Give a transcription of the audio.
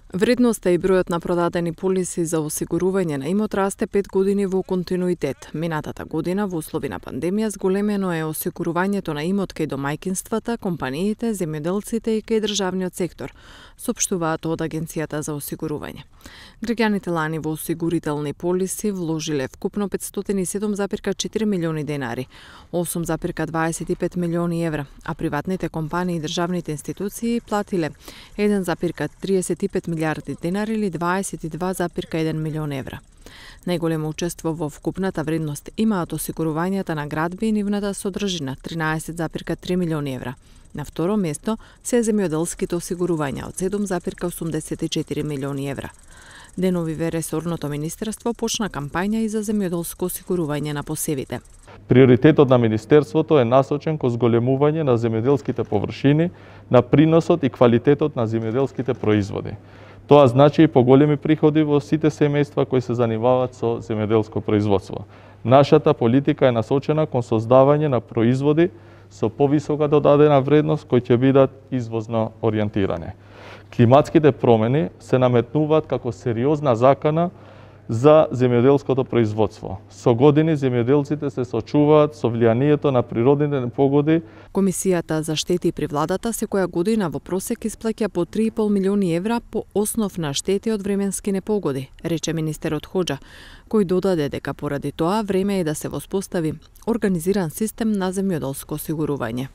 Вредноста и бројот на продадени полиси за осигурување на имот расте 5 години во континуитет. Минатата година во услови на пандемија зголемено е осигурувањето на имот кај домаќинствата, компаниите, земјоделците и кај државниот сектор, соопштуваат од Агенцијата за осигурување. Граѓаните лани во осигурителни полиси вложиле вкупно 507,4 милиони денари, 8,25 милиони евра, а приватните компании и државните институции платиле 1,35 милиарди денари или 22,1 милион евра. Најголемо учество во вкупната вредност имаат осигурувањата на градби и нивната содржина 13,3 милиони евра. На второ место се земјоделските осигурувања од 7,84 милиони евра. Деновиве ресорното министерство почна кампања и за земјоделско осигурување на посевите. Приоритетот на Министерството е насочен кон зголемување на земјоделските површини, на приносот и квалитетот на земјоделските производи. Тоа значи и поголеми приходи во сите семејства кои се занимаваат со земјоделско производство. Нашата политика е насочена кон создавање на производи со повисока додадена вредност кои ќе бидат извозно ориентирани. Климатските промени се наметнуваат како сериозна закана за земјоделското производство. Со години земјоделците се соочуваат со влијанието на природните непогоди. Комисијата за штети при владата секоја година во просек исплаќа по 3,5 милиони евра по основ на штети од временски непогоди, рече министерот Хоџа, кој додаде дека поради тоа време е да се воспостави организиран систем на земјоделско осигурување.